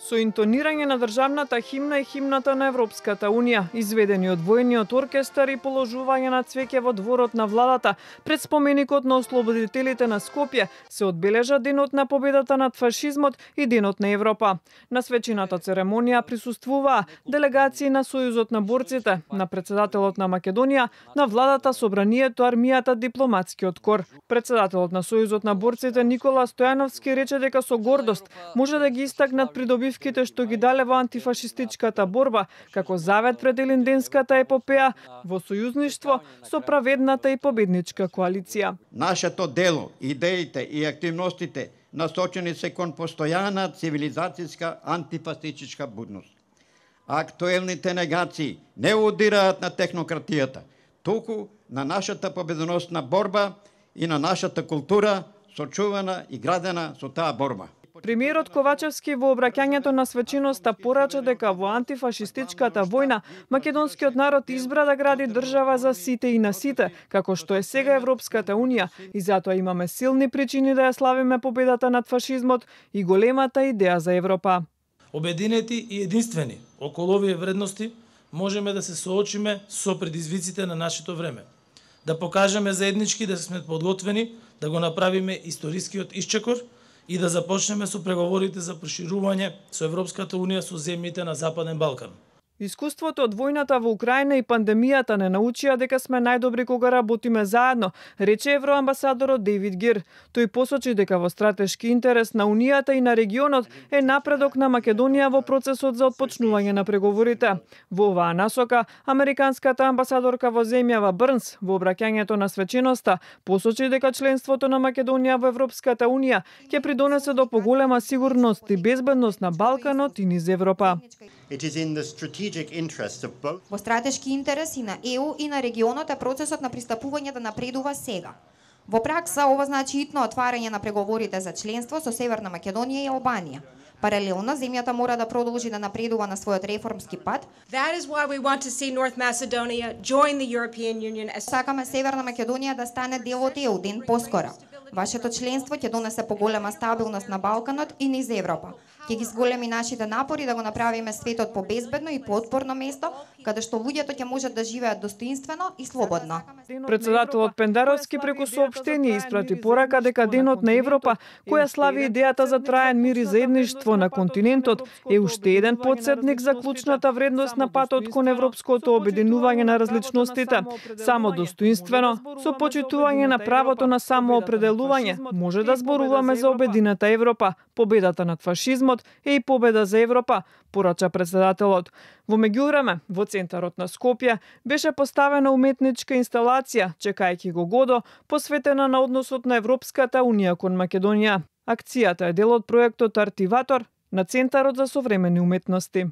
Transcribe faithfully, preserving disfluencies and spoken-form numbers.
Со интонирање на државната химна и химната на Европската Унија, изведени од војниот оркестар и положување на цвеќе во дворот на владата, пред споменикот на ослободителите на Скопје, се одбележа денот на победата над фашизмот и денот на Европа. На свечената церемонија присуствуваа делегации на Сојузот на борците, на председателот на Македонија, на владата, собранието, армијата, дипломатскиот кор. Председателот на Сојузот на борците Никола Стојановски рече дека со гордост може да ги истакнат придобивките што ги дале во антифашистичката борба, како завет пред Илинденската епопеја во сојузништво со праведната и победничка коалиција. Нашето дело, идеите и активностите насочени се кон постојана цивилизацијска антифашистичка будност. Актуелните негации не удираат на технократијата, туку на нашата победоносна борба и на нашата култура, сочувана и градена со таа борба. Премиерот Ковачевски во обраќањето на свеченоста порача дека во антифашистичката војна македонскиот народ избра да гради држава за сите и на сите, како што е сега Европската Унија, и затоа имаме силни причини да ја славиме победата над фашизмот и големата идеја за Европа. Обединети и единствени околу овие вредности можеме да се соочиме со предизвиците на нашето време. Да покажеме заеднички да сме подготвени да го направиме историскиот исчекор и да започнеме со преговорите за проширување со Европската Унија со земјите на Западен Балкан. Искуството од војната во Украина и пандемијата не научија дека сме најдобри кога работиме заедно, рече евроамбасадорот Дейвид Гир. Тој посочи дека во стратешки интерес на Унијата и на регионот е напредок на Македонија во процесот за отпочнување на преговорите. Во оваа насока, американската амбасадорка во земјава Брнс во обраќањето на свеченоста посочи дека членството на Македонија во Европската Унија ќе придонесе до поголема сигурност и безбедност на Балканот и низ Европа. Во стратешки интерес и на Е У и на регионот е процесот на пристапување да напредува сега. Во пракса, ова значи итно отварање на преговорите за членство со Северна Македонија и Албанија. Паралелно, земјата мора да продолжи да напредува на својот реформски пат. Сакаме Северна Македонија да стане дел од Е У ден поскора. Вашето членство ќе донесе поголема стабилност на Балканот и низ Европа. Ќе ги зголеми нашите напори да го направиме светот побезбедно и поотпорно место, каде што луѓето ќе можат да живеат достоинствено и слободно. Председателот Пендаровски преку соопштение испрати порака дека Денот на Европа, која слави идејата за траен мир и заедништво на континентот, е уште еден потсетник за клучната вредност на патот кон европското обединување на различностите. Само достоинствено, со почитување на правото на самоопределување, може да зборуваме за обединета Европа. Победата над фашизмот е и победа за Европа, порача председателот. Во меѓувреме, во центарот на Скопје беше поставена уметничка инсталација, чекајќи го Годо, посветена на односот на Европската Унија кон Македонија. Акцијата е дел од проектот Артиватор на Центарот за современи уметности.